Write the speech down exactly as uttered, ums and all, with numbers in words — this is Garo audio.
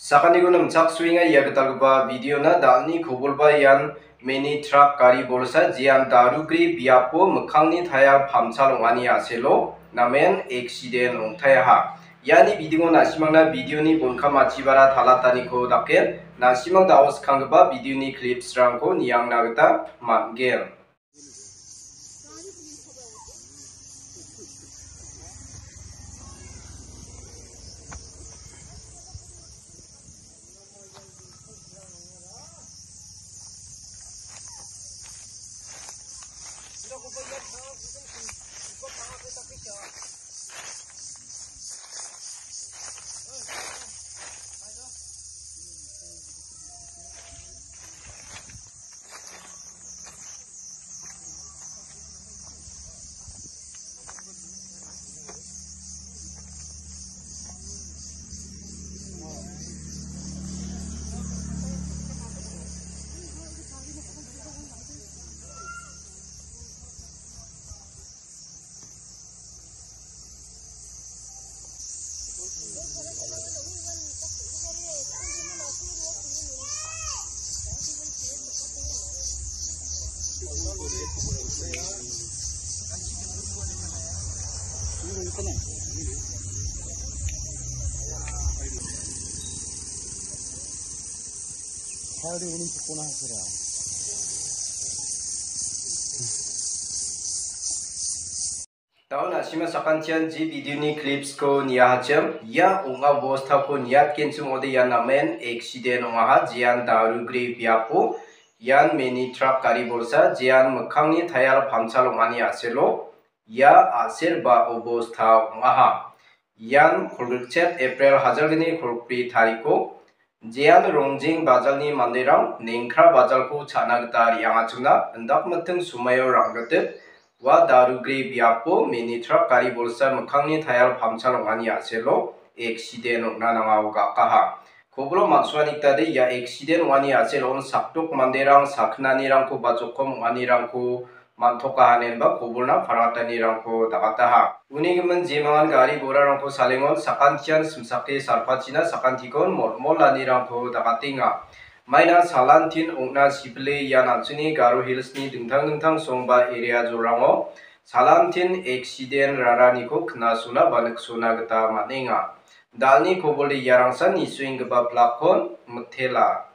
Sakantikon nimchaksoenga ia gitalgipa videona. Dalni kobolba ian mini trak gari bolsa, jean darugre biapo mikkangni tayar pamchal ong·ani a·selo namen eksiden ong·taiaha. Iani bidingo na·simangna videoni bonkam achibara talataniko dake, na·simang da·o skanggipa videoni clipsrangko niangna gita man·gen. Daun asima sakantian ji videoni clipsko niahachim. Ia ong·a bostako niatgenchim ode ian namen eksiden ong·aha, jean darugre biapo ian mini trak gari bolsa, jean mikkangni tayar pamchal ong·ani a·selo ia a·ser ba obosta ong·aha. Ian kolgrikchet April hajalgni kolgri tariko, jean rongjeng bajalni manderang nengkra bajalko cha·na gita re·angachimna indakmiting sumaio rangritit ua darugre biapo mini trak gari bolsa mikkangni tayar pamchal ong·ani a·selo eksiden ong·na nangao ga·kaha. Kobilo man·suani gitade ia eksiden ong·ani a·selon sakdok manderang sakgnanirangko ba jokom ong·anirangko man·tokaha inenba kobolna paratanirangko dagataha. Uni gimin jemangan gari gorarangko salengon sakantian simsake salpachina sakantikon molmolanirangko dagatenga. Maina salantin ong·na sibile ian an·chingni Garo Hillsni dingtang dingtang song ba area jorango salantin eksiden raraniko knasona ba niksona gita man·enga. Dalni kobolde iarangsan nisuenggipa plakkon mitela.